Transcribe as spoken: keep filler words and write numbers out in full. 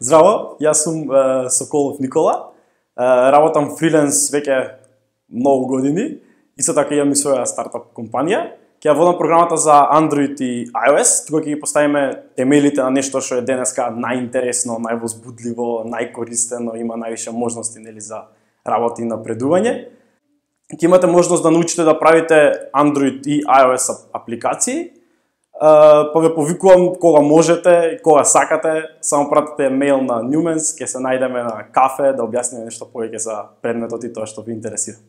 Здраво, јас сум е, Соколов Никола. Е, работам фриленс веќе многу години. Исто така имам и своја стартап компанија. Ќе ја водам програмата за Android и iOS, тука ќе ги поставиме темелите на нешто што е денеска најинтересно, највозбудливо, најкористено, има највише можности нели за работа и напредување. Ќе имате можност да научите да правите Android и iOS апликации. Uh, па ве повикувам кога можете и кога сакате, само пратете мејл на Newmans, ќе се најдеме на кафе да објасниме нешто повеќе за предметот и тоа што ви интересира.